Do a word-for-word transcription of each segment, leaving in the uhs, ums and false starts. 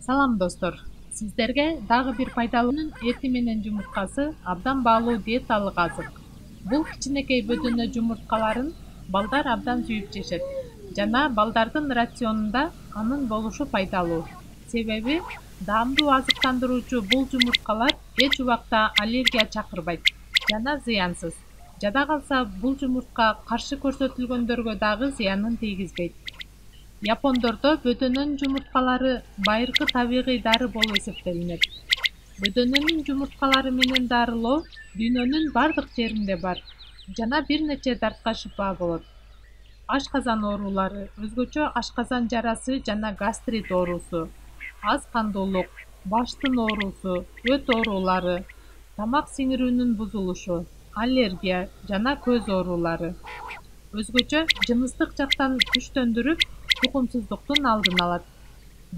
Салам достор, сиздерге дагы бир пайдалуунун эти менен жумурткасы абдан баалуу диеталык азык. Бул кичинекей бөдөнө жумурткаларын балдар абдан сүйүп жешет жана балдардын рационунда анын болушу пайдалуу. Себеби даамдуу азыктандыруучу бул жумурткалар эч убакта аллергия чакырбайт жана зыянсыз. Жада калса бул жумуртка каршы көрсөтүлгөндөргө дагы зыянын тийгизбейт. Япондордо бөдөнөнүн жумурткалары байыркы табигый дары болуп эсептелинет. Бөдөнөнүн жумурткалары менен дарылоо дүйнөнүн бардык жеринде бар жана бир нече дартка шыпа болот. Ашказан оорулары, өзгөчө ашказан жарасы жана гастрит оорусу, аз кандуулук, баштын оорусу, өт оорулары, тамак сиңирүүнүн бузулушу, аллергия жана көз оорулары. Өзгөчө жыныстык жактан күчтөндүрүп, тукумсуздуктун алдын алат.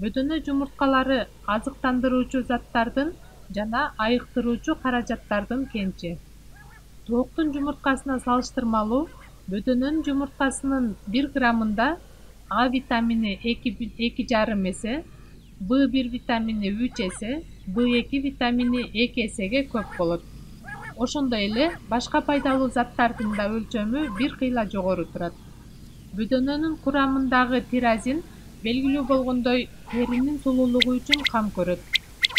Бөдөнө жумурткалары азыктандыруучу заттардын жана айыктыруучу каражаттардын кенчи. Тооктун жумурткасына салыштырмалуу бөдөнөнүн жумурткасынын бир граммында А витамини эки жарым эсе, В бир витамини үч эсе, В эки витамини эки эсеге көп болот. Ошондой эле башка пайдалуу заттардын да өлчөмү бир кыйла жогору турат. Бөдөнөнүн курамындагы тирозин белгилүү болгондой теринин сулуулугу үчүн кам көрөт.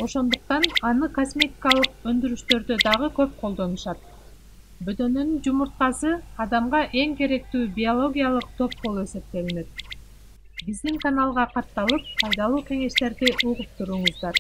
Ошондуктан аны косметикалык өндүрүштөрдө дагы көп колдонушат. Бөдөнөнүн жумурткасы адамга эң керектүү биологиялык топ болуп эсептелинет. Биздин каналга катталып, пайдалуу кеңештерди угуп туруңуздар.